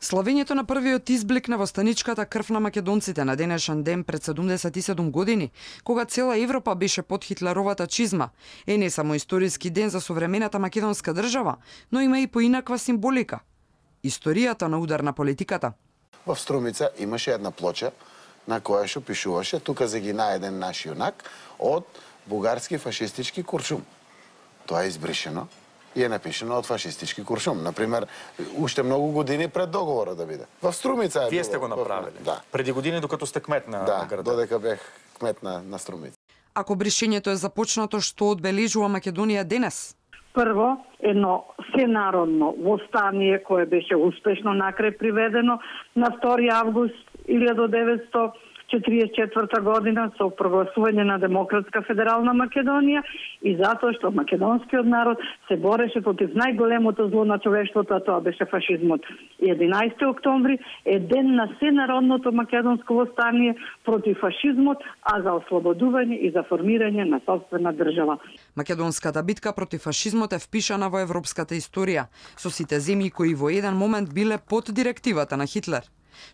Славењето на првиот изблик на востаничката крв на македонците на денешен ден пред 77 години, кога цела Европа беше под хитлеровата чизма, е не само историски ден за современата македонска држава, но има и поинаква символика. Историјата на удар на политиката. Во Струмица имаше една плоча на која што пишуваше тука загина еден наш јунак од бугарски фашистички куршум. Тоа е избришено и е напишено од фашистички куршум. Например, уште многу години пред договорот да биде. Во Струмица е Вие сте го направиле? Да. Преди години докато сте кмет на градот? Да, додека бев кмет на Струмица. Ако бришењето е започнато, што одбележува Македонија денес? Прво, едно сенародно востание кое беше успешно накрај приведено на 2 август 1944 година со прогласување на Демократска федерална Македонија и затоа што македонскиот народ се бореше против најголемото зло на човештвото, а тоа беше фашизмот. И 11 октомври е ден на сенародното македонско востание против фашизмот, а за ослободување и за формирање на сопствена држава. Македонската битка против фашизмот е впишана во европската историја, со сите земји кои во еден момент биле под директивата на Хитлер.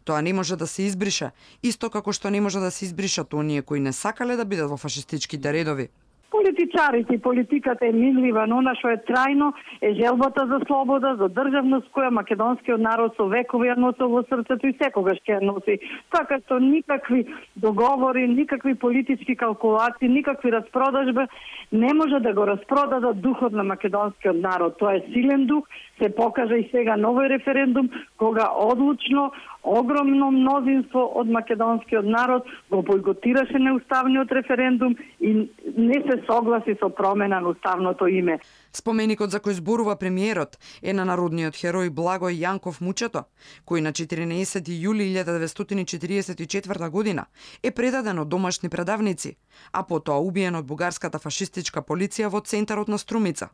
Тоа не може да се избрише, исто како што не може да се избришат оние кои не сакале да бидат во фашистичките редови. Политичарите и политиката е минлива, но она што е трајно е желбата за слобода, за државност која македонскиот народ со векови ја носил во срцето и секогаш ќе ја носи. Така што никакви договори, никакви политички калкулации, никакви распродажби не може да го распродадат духот на македонскиот народ. Тоа е силен дух, се покажа и сега новој референдум, кога одлучно огромно мнозинство од македонскиот народ го бойкотираше неуставниот референдум и не се согласи со промена на уставното име. Споменикот за кој зборува премиерот е на народниот херој Благој Јанков Мучето, кој на 14 јули 1944 година е предаден од домашни предавници, а потоа убиен од бугарската фашистичка полиција во центарот на Струмица.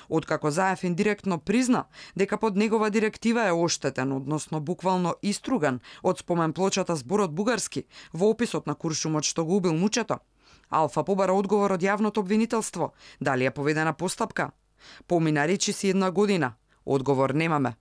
Откако Заев индиректно призна дека под негова директива е оштетен, односно буквално иструган од споменплочата зборот бугарски во описот на куршумот што го убил Мучето, Алфа побара одговор од јавното обвинителство, дали е поведена постапка. Помина речиси 1 година, одговор немаме.